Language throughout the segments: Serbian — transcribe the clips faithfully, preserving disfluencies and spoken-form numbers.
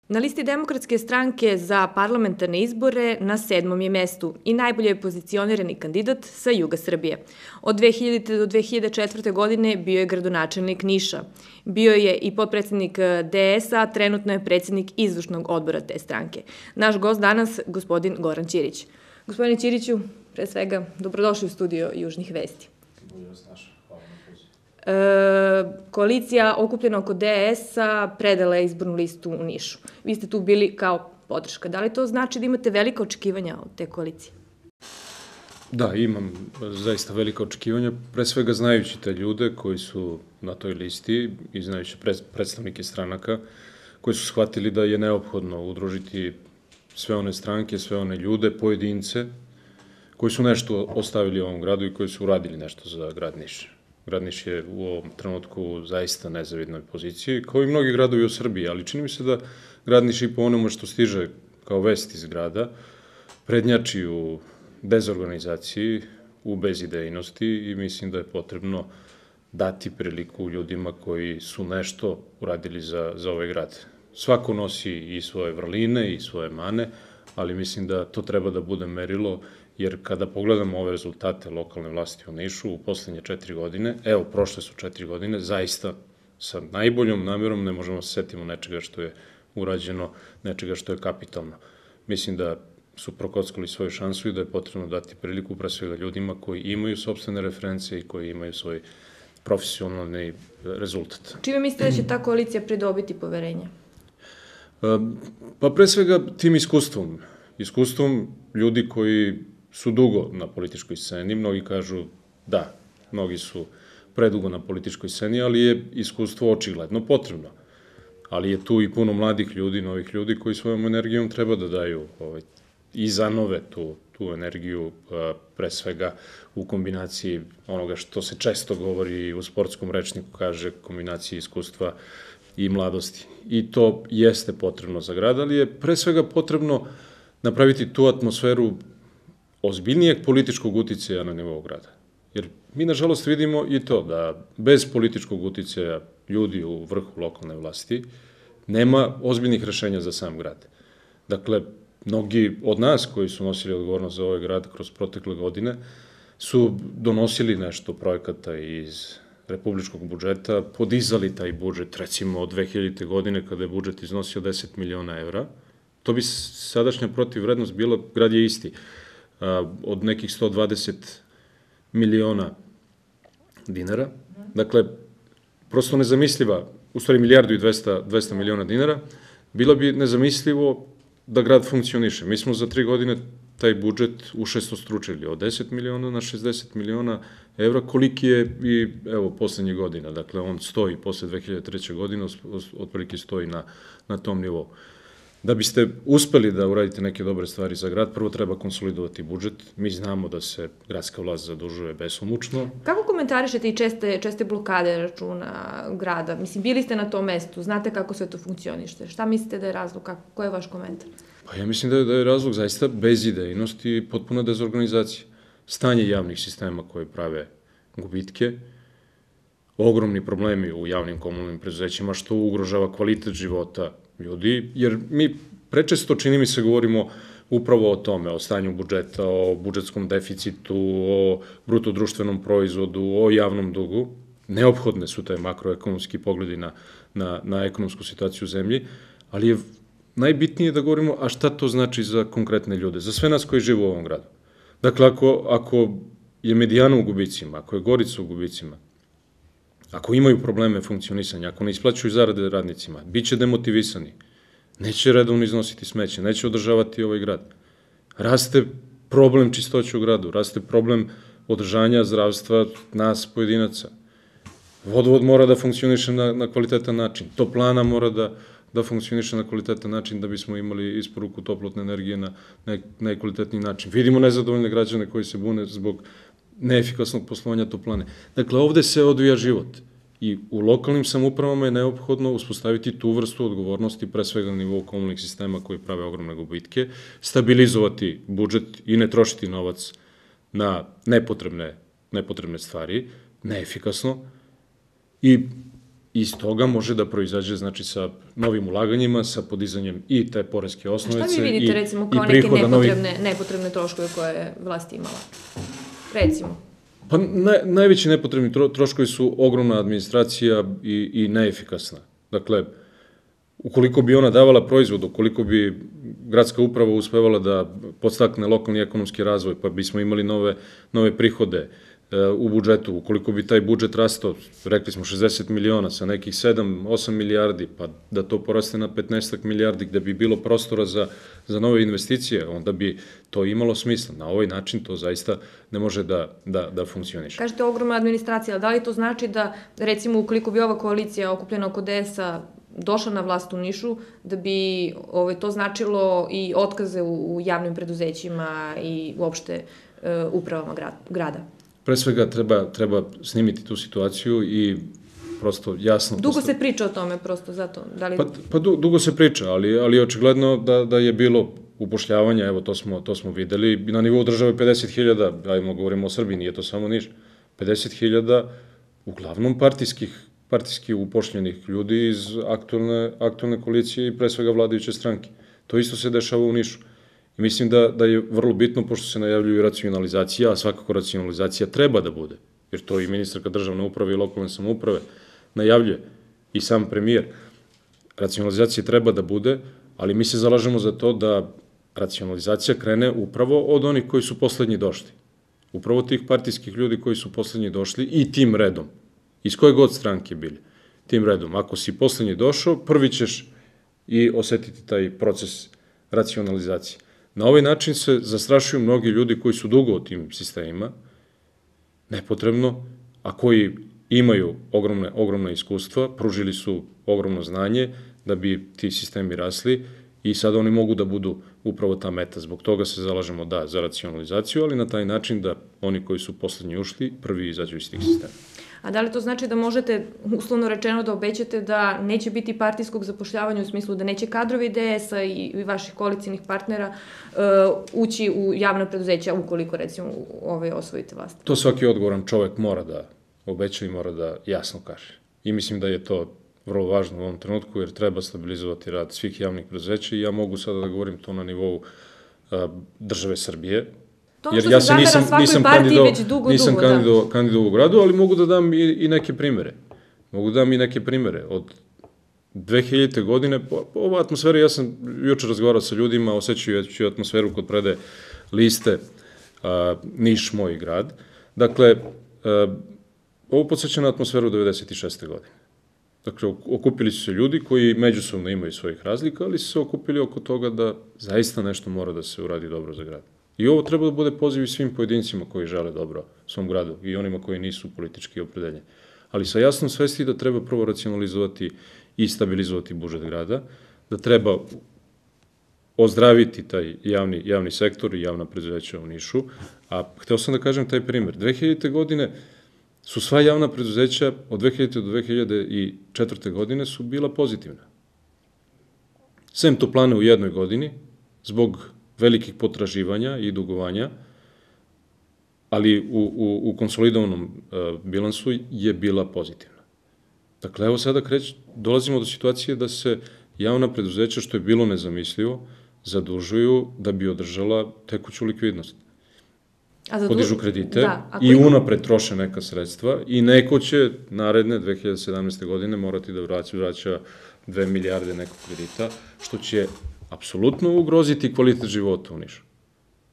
Na listi Demokratske stranke za parlamentarne izbore na sedmom je mestu i najbolje je pozicionirani kandidat sa juga Srbije. Od dve hiljadite do dve hiljade četvrte. godine bio je gradonačelnik Niša. Bio je i potpredsednik D S A, trenutno je predsednik izvršnog odbora te stranke. Naš gost danas, gospodin Goran Ćirić. Gospodine Ćiriću, pre svega, dobrodošli u studio Južnih vesti. Bolje vas naša. Hvala na pozivu. E, koalicija okupljena oko D S A predala je izbornu listu u Nišu. Vi ste tu bili kao podrška. Da li to znači da imate velika očekivanja od te koalicije? Da, imam zaista velika očekivanja, pre svega znajući te ljude koji su na toj listi i znajući predstavnike stranaka koji su shvatili da je neophodno udružiti sve one stranke, sve one ljude, pojedince koji su nešto ostavili u ovom gradu i koji su uradili nešto za grad Niš. Grad Niš je u ovom trenutku u zaista nezavidnoj poziciji, kao i mnogi gradovi u Srbiji, ali čini mi se da grad Niš i po onome što stiže kao vest iz grada prednjači u dezorganizaciji, u bezidejnosti i mislim da je potrebno dati priliku ljudima koji su nešto uradili za, za ovaj grad. Svako nosi i svoje vrline i svoje mane, ali mislim da to treba da bude merilo, jer kada pogledamo ove rezultate lokalne vlasti u Nišu u poslednje četiri godine, evo, prošle su četiri godine, zaista sa najboljom namjerom ne možemo se setimo nečega što je urađeno, nečega što je kapitalno. Mislim da su prokockali svoju šansu i da je potrebno dati priliku pre svega ljudima koji imaju sopstvene reference i koji imaju svoj profesionalni rezultat. Čime mislite da će ta koalicija pridobiti poverenje? Pa pre svega tim iskustvom. Iskustvom ljudi koji su dugo na političkoj sceni. Mnogi kažu da, mnogi su predugo na političkoj sceni, ali je iskustvo očigledno potrebno. Ali je tu i puno mladih ljudi, novih ljudi koji svojom energijom treba da daju ovaj, i zanove tu, tu energiju, pre svega u kombinaciji onoga što se često govori u sportskom rečniku, kaže kombinaciji iskustva i mladosti. I to jeste potrebno za grad, ali je pre svega potrebno napraviti tu atmosferu ozbiljnijeg političkog uticaja na nivou grada. Jer mi, nažalost, vidimo i to da bez političkog uticaja ljudi u vrhu lokalne vlasti nema ozbiljnih rešenja za sam grad. Dakle, mnogi od nas koji su nosili odgovornost za ovaj grad kroz protekle godine su donosili nešto projekata iz republičkog budžeta, podizali taj budžet, recimo od dve hiljadite. godine kada je budžet iznosio deset miliona evra. To bi sadašnja protivvrednost bila, grad je isti, od nekih sto dvadeset miliona dinara. Dakle, prosto nezamisliva, u stvari milijardu i dvesta miliona dinara, bilo bi nezamislivo da grad funkcioniše. Mi smo za tri godine taj budžet ušestostručili od deset miliona na šezdeset miliona evra, koliki je i, evo, poslednje godina. Dakle, on stoji posle dve hiljade treće. godine, otprilike stoji na, na tom nivou. Da biste uspeli da uradite neke dobre stvari za grad, prvo treba konsolidovati budžet. Mi znamo da se gradska vlast zadužuje besomučno. Kako komentarišete i česte, česte blokade računa grada? Mislim, bili ste na tom mestu, znate kako sve to funkcionište. Šta mislite da je razlog? Kako, ko je vaš komentar? Pa ja mislim da je, da je razlog zaista bezidejnost i potpuna dezorganizacija. Stanje javnih sistema koje prave gubitke, ogromni problemi u javnim komunalnim preduzećima, što ugrožava kvalitet života ljudi, jer mi prečesto, čini mi se, govorimo upravo o tome, o stanju budžeta, o budžetskom deficitu, o brutodruštvenom proizvodu, o javnom dugu. Neophodne su taj makroekonomski pogledi na, na, na ekonomsku situaciju u zemlji, ali je najbitnije da govorimo, a šta to znači za konkretne ljude, za sve nas koji žive u ovom gradu. Dakle, ako, ako je Medijana u gubicima, ako je Gorica u gubicima, ako imaju probleme funkcionisanja, ako ne isplaćuju zarade radnicima, bit će demotivisani, neće redovno iznositi smeće, neće održavati ovaj grad. Raste problem čistoće u gradu, raste problem održanja zdravstva nas pojedinaca. Vodovod mora da funkcioniše na, na kvalitetan način, toplana mora da, da funkcioniše na kvalitetan način da bismo imali isporuku toplotne energije na najkvalitetniji način. Vidimo nezadovoljne građane koji se bune zbog neefikasnog poslovanja toplane. Dakle, ovde se odvija život i u lokalnim samoupravama je neophodno uspostaviti tu vrstu odgovornosti, pre svega na nivou komunalnih sistema koji prave ogromne gubitke, stabilizovati budžet i ne trošiti novac na nepotrebne, nepotrebne stvari, neefikasno, i iz toga može da proizađe, znači, sa novim ulaganjima, sa podizanjem i te poreske osnovice. Šta vi vidite, recimo, kao neke nepotrebne, nepotrebne troškove koje je vlast imala? Recimo. Pa naj, najveći nepotrebni tro, troškovi su ogromna administracija i, i neefikasna. Dakle, ukoliko bi ona davala proizvod, ukoliko bi gradska uprava uspevala da podstakne lokalni ekonomski razvoj, pa bismo imali nove, nove prihode u budžetu, ukoliko bi taj budžet rastao, rekli smo šezdeset miliona sa nekih sedam osam milijardi, pa da to poraste na petnaest milijardi gde bi bilo prostora za, za nove investicije, onda bi to imalo smisla. Na ovaj način to zaista ne može da, da, da funkcioniše. Kažete ogromna administracija, ali da li to znači da, recimo, ukoliko bi ova koalicija okupljena oko D S A došla na vlast u Nišu, da bi ovaj, to značilo i otkaze u, u javnim preduzećima i uopšte e, upravama grada? Pre svega treba, treba snimiti tu situaciju i prosto jasno... Dugo se priča o tome, prosto, zato. Da li... Pa, pa du, dugo se priča, ali, ali očigledno da, da je bilo upošljavanja, evo to smo, to smo videli, na nivou države pedeset hiljada, ajmo govorimo o Srbiji, nije to samo Niš, pedeset hiljada uglavnom partijskih, partijski upošljenih ljudi iz aktualne, aktualne koalicije i pre svega vladajuće stranke. To isto se dešava u Nišu. I mislim da, da je vrlo bitno, pošto se najavljuju racionalizacija, a svakako racionalizacija treba da bude, jer to i ministarka državne uprave i lokalne samouprave najavljuje, i sam premijer. Racionalizacija treba da bude, ali mi se zalažemo za to da racionalizacija krene upravo od onih koji su poslednji došli. Upravo tih partijskih ljudi koji su poslednji došli i tim redom, iz koje god stranke bili, tim redom. Ako si poslednji došao, prvi ćeš i osetiti taj proces racionalizacije. Na ovaj način se zastrašuju mnogi ljudi koji su dugo u tim sistemima, nepotrebno, a koji imaju ogromne, ogromne iskustva, pružili su ogromno znanje da bi ti sistemi rasli i sada oni mogu da budu upravo ta meta. Zbog toga se zalažemo, da, za racionalizaciju, ali na taj način da oni koji su poslednji ušli, prvi izađu iz tih sistema. A da li to znači da možete, uslovno rečeno, da obećate da neće biti partijskog zapošljavanja u smislu da neće kadrovi D S A i vaših koalicijnih partnera uh, ući u javna preduzeća ukoliko, recimo, ovaj, osvojite vlast? To svaki odgovoran čovek mora da obeća i mora da jasno kaže. I mislim da je to vrlo važno u ovom trenutku, jer treba stabilizovati rad svih javnih preduzeća i ja mogu sada da govorim to na nivou uh, države Srbije. To što se zamera svakoj partiji već dugo, dugo, da. Nisam kandidovao u gradu, ali mogu da dam i, i neke primere. Mogu da dam i neke primere. Od dve hiljadite godine, ova atmosfera, ja sam juče razgovarao sa ljudima, osjećajući atmosferu kod prede liste a, Niš, moj grad. Dakle, a, ovo podsjeća na atmosferu devedeset šeste godine. Dakle, okupili su se ljudi koji međusobno imaju svojih razlika, ali su se okupili oko toga da zaista nešto mora da se uradi dobro za grad. I ovo treba da bude poziv i svim pojedincima koji žele dobro svom gradu i onima koji nisu politički opredeljeni. Ali sa jasnom svesti da treba prvo racionalizovati i stabilizovati budžet grada, da treba ozdraviti taj javni, javni sektor i javna preduzeća u Nišu. A hteo sam da kažem taj primer. dve hiljadite godine su sva javna preduzeća od dve hiljadite do dve hiljade četvrte. godine su bila pozitivna. Sem toplane u jednoj godini, zbog velikih potraživanja i dugovanja, ali u, u, u konsolidovanom uh, bilansu je bila pozitivna. Dakle, evo sada kreć, dolazimo do situacije da se javna preduzeća, što je bilo nezamislivo, zadužuju da bi održala tekuću likvidnost. A zaduž... Podižu kredite da, i unapred troše neka sredstva i neko će naredne dve hiljade sedamnaeste. godine morati da vraća, vraća dve milijarde nekog kredita, što će apsolutno ugroziti kvalitet života u Nišu.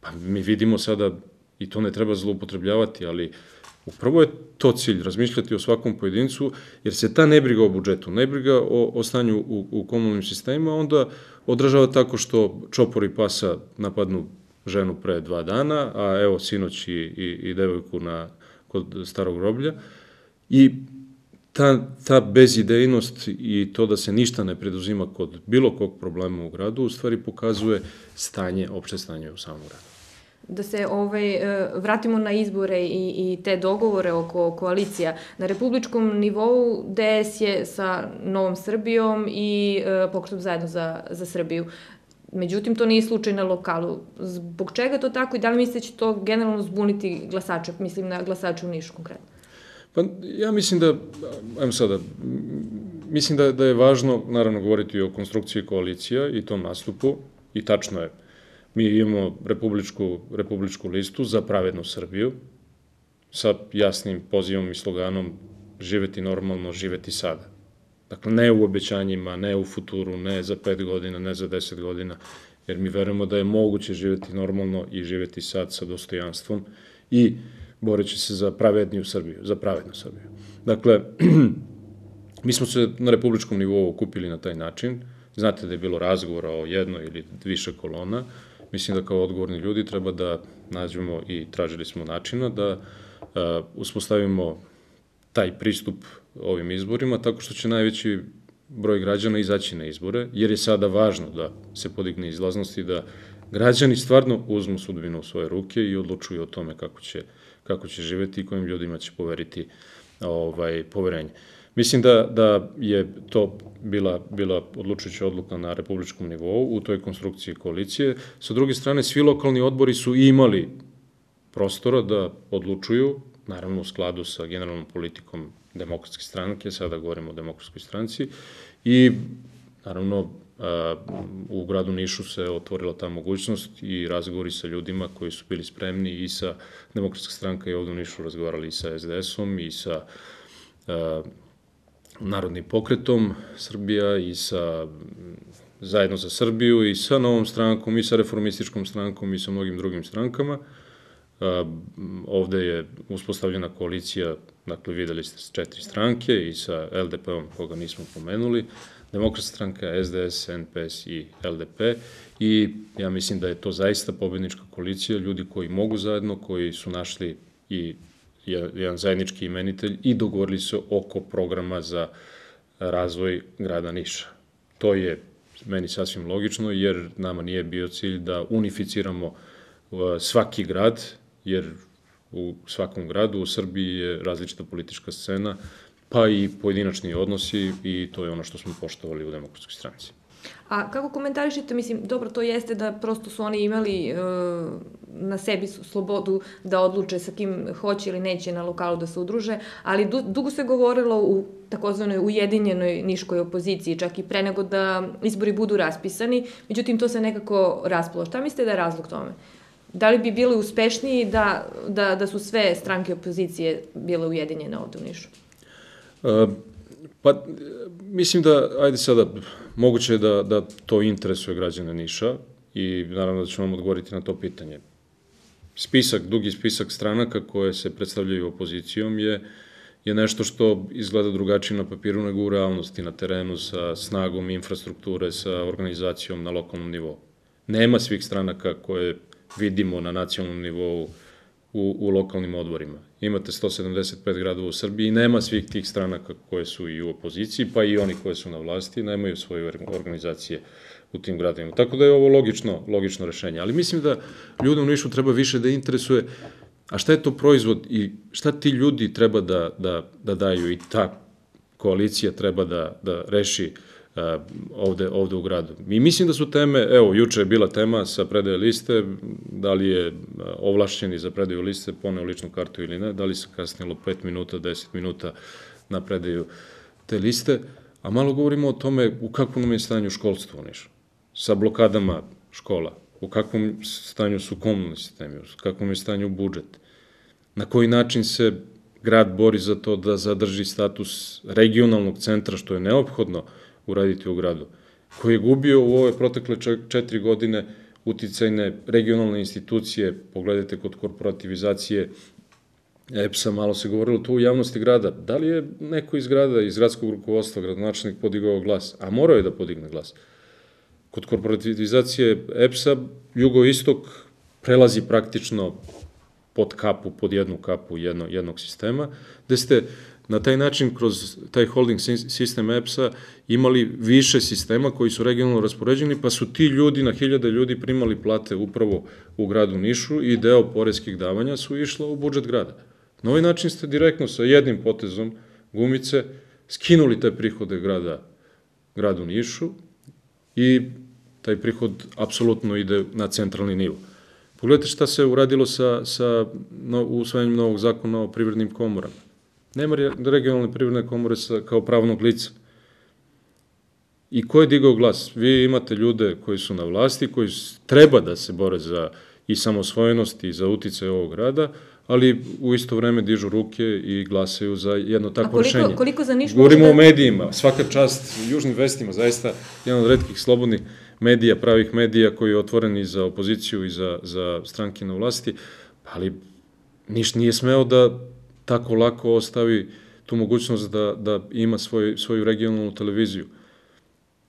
Pa mi vidimo sada, i to ne treba zloupotrebljavati, ali upravo je to cilj, razmišljati o svakom pojedincu, jer se ta nebriga o budžetu, nebriga o, o stanju u, u komunalnim sistemima, onda odražava tako što čopor i pasa napadnu ženu pre dva dana, a evo sinoć i, i, i devojku na, kod starog groblja, i Ta, ta bezidejnost i to da se ništa ne preduzima kod bilo kog problema u gradu, u stvari pokazuje stanje, opšte stanje u samom gradu. Da se ovaj, vratimo na izbore i, i te dogovore oko koalicija. Na republičkom nivou D S je sa Novom Srbijom i Pokretom zajedno za, za Srbiju. Međutim, to nije slučaj na lokalu. Zbog čega to tako i da li mislite će to generalno zbuniti glasače, mislim na glasače u Nišu konkretno? Pa ja mislim da, ajmo sada, mislim da, da je važno, naravno, govoriti o konstrukciji koalicija i tom nastupu, i tačno je, mi imamo republičku, republičku listu za pravednu Srbiju, sa jasnim pozivom i sloganom živeti normalno, živeti sada. Dakle, ne u obećanjima, ne u futuru, ne za pet godina, ne za deset godina, jer mi verujemo da je moguće živeti normalno i živeti sad sa dostojanstvom i boreći se za pravedniju Srbiju, za pravednu Srbiju. Dakle, mi smo se na republičkom nivou okupili na taj način. Znate da je bilo razgovora o jednoj ili više kolona. Mislim da kao odgovorni ljudi treba da nađemo i tražili smo načina da uspostavimo taj pristup ovim izborima, tako što će najveći broj građana izaći na izbore, jer je sada važno da se podigne izlaznost i da građani stvarno uzmu sudbinu u svoje ruke i odlučuju o tome kako će, kako će živeti i kojim ljudima će poveriti ovaj, poverenje. Mislim da, da je to bila, bila odlučujuća odluka na republičkom nivou u toj konstrukciji koalicije. Sa druge strane, svi lokalni odbori su imali prostora da odlučuju, naravno u skladu sa generalnom politikom Demokratske stranke, sada govorimo o Demokratskoj stranci, i naravno u gradu Nišu se otvorila ta mogućnost i razgovori sa ljudima koji su bili spremni i sa Demokratska stranka i ovde u Nišu razgovarali i sa es de esom i sa Narodnim pokretom Srbija i sa Zajedno za Srbiju i sa Novom strankom i sa Reformističkom strankom i sa mnogim drugim strankama. Ovde je uspostavljena koalicija, dakle videli ste četiri stranke i sa el de pe-om koga nismo pomenuli, Demokratska stranka, es de es, en pe es i el de pe, i ja mislim da je to zaista pobednička koalicija, ljudi koji mogu zajedno, koji su našli i jedan zajednički imenitelj i dogovorili se oko programa za razvoj grada Niša. To je meni sasvim logično, jer nama nije bio cilj da unificiramo svaki grad, jer u svakom gradu u Srbiji je različita politička scena, pa i pojedinačni odnosi, i to je ono što smo poštovali u Demokratskoj stranci. A kako komentarišete, mislim, dobro, to jeste da prosto su oni imali na sebi slobodu da odluče sa kim hoće ili neće na lokalu da se udruže, ali dugo se govorilo u takozvanoj ujedinjenoj niškoj opoziciji, čak i pre nego da izbori budu raspisani, međutim to se nekako raspalo. Šta mislite da je razlog tome? Da li bi bili uspešniji da, da, da su sve stranke opozicije bile ujedinjene ovde u Nišu? Uh, pa, mislim da, ajde sada, moguće je da, da to interesuje građane Niša i naravno da ću vam odgovoriti na to pitanje. Spisak, dugi spisak stranaka koje se predstavljaju opozicijom je, je nešto što izgleda drugačije na papiru nego u realnosti, na terenu, sa snagom infrastrukture, sa organizacijom na lokalnom nivou. Nema svih stranaka koje vidimo na nacionalnom nivou u, u lokalnim odborima. Imate sto sedamdeset pet gradova u Srbiji i nema svih tih stranaka koje su i u opoziciji, pa i oni koje su na vlasti, nemaju svoje organizacije u tim gradovima. Tako da je ovo logično, logično rešenje. Ali mislim da ljude u Nišu treba više da interesuje a šta je to proizvod i šta ti ljudi treba da, da, da daju i ta koalicija treba da, da reši ovde, ovde u gradu. I mislim da su teme, evo, juče je bila tema sa predaje liste, da li je ovlašćeni za predaju liste poneo ličnu kartu ili ne, da li se kasnilo pet minuta, deset minuta na predaju te liste, a malo govorimo o tome u kakvom nam je stanju školstvo u Nišu, sa blokadama škola, u kakvom stanju su komunalni sistemi, u kakvom je stanju budžet, na koji način se grad bori za to da zadrži status regionalnog centra, što je neophodno uraditi u gradu, koji je gubio u ove protekle četiri godine uticajne regionalne institucije, pogledajte kod korporativizacije E P S-a, malo se govorilo to u javnosti grada, da li je neko iz grada, iz gradskog rukovodstva, gradonačelnik podigao glas, a morao je da podigne glas. Kod korporativizacije E P S-a, jugoistok prelazi praktično pod kapu, pod jednu kapu jedno, jednog sistema, gde ste na taj način, kroz taj holding sistem E P S-a, imali više sistema koji su regionalno raspoređeni, pa su ti ljudi, na hiljade ljudi, primali plate upravo u gradu Nišu i deo poreskih davanja su išla u budžet grada. Na ovaj način ste direktno sa jednim potezom gumice skinuli te prihode grada, gradu Nišu i taj prihod apsolutno ide na centralni nivo. Pogledajte šta se uradilo sa, sa no, usvajanjem novog zakona o privrednim komorama. Nema regionalne privredne komore sa, kao pravnog lica. I ko je digao glas? Vi imate ljude koji su na vlasti, koji treba da se bore za i samosvojenost i za uticaj ovog grada, ali u isto vreme dižu ruke i glasaju za jedno takvo rešenje. A koliko, koliko za Niš Govorimo možda... o medijima, svaka čast južnim vestima, zaista jedan od retkih slobodnih medija, pravih medija koji je otvoren i za opoziciju i za, za stranke na vlasti, ali Niš nije smeo da tako lako ostavi tu mogućnost da, da ima svoj, svoju regionalnu televiziju.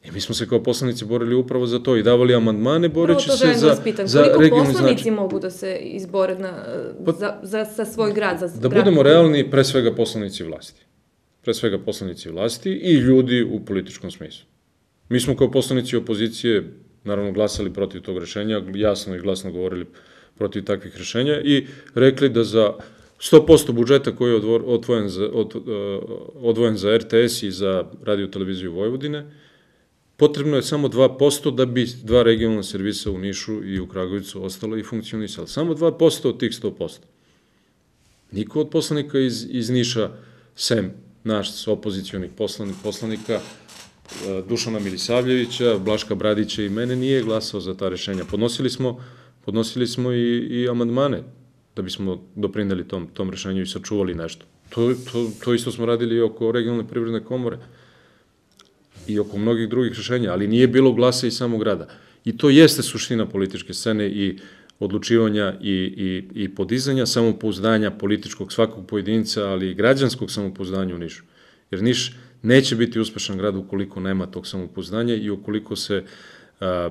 I mi smo se kao poslanici borili upravo za to i davali amandmane boreći se za, za regionalni značaj. Koliko poslanici mogu da se izbore na, pa, za, za, za svoj grad? Za da budemo realni, pre svega poslanici vlasti. Pre svega poslanici vlasti i ljudi u političkom smislu. Mi smo kao poslanici opozicije, naravno, glasali protiv tog rešenja, jasno i glasno govorili protiv takvih rešenja i rekli da za sto posto budžeta koji je odvojen za, od, odvojen za er te es i za radio televiziju Vojvodine, potrebno je samo dva posto da bi dva regionalna servisa u Nišu i u Kragujevcu ostalo i funkcionisalo. Samo dva posto od tih sto posto. Niko od poslanika iz, iz Niša, sem naš opozicionih poslanika, Dušana Milisavljevića, Blaška Bradića i mene, nije glasao za ta rešenja. Podnosili smo, podnosili smo i, i amandmane da bismo doprineli tom, tom rešenju i sačuvali nešto. To, to, to isto smo radili i oko regionalne privredne komore i oko mnogih drugih rešenja, ali nije bilo glasa iz samog grada. I to jeste suština političke scene i odlučivanja i, i, i podizanja samopouzdanja političkog svakog pojedinca, ali i građanskog samopouzdanja u Nišu. Jer Niš neće biti uspešan grad ukoliko nema tog samopouzdanja i ukoliko se a,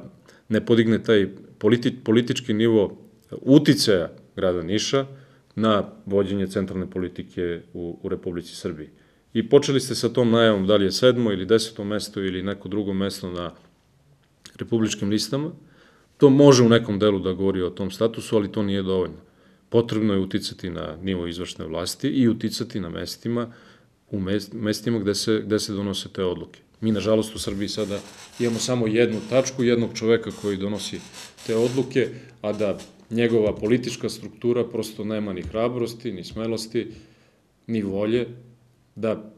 ne podigne taj politi, politički nivo uticaja grada Niša na vođenje centralne politike u, u Republici Srbiji. I počeli ste sa tom najavom da li je sedmo ili deseto mesto ili neko drugo mesto na republičkim listama. To može u nekom delu da govori o tom statusu, ali to nije dovoljno. Potrebno je uticati na nivo izvršne vlasti i uticati na mestima, u mestima gde se, gde se donose te odluke. Mi, nažalost, u Srbiji sada imamo samo jednu tačku, jednog čoveka koji donosi te odluke, a da njegova politička struktura prosto nema ni hrabrosti, ni smelosti, ni volje da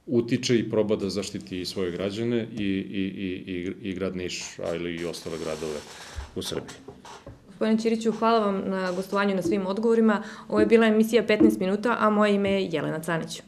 utiče i proba da zaštiti i svoje građane i, i, i, i grad Niš, ali i ostale gradove u Srbiji. Gospodine Ćiriću, hvala vam na gostovanju i na svim odgovorima. Ovo je bila emisija petnaest minuta, a moje ime je Jelena Canić.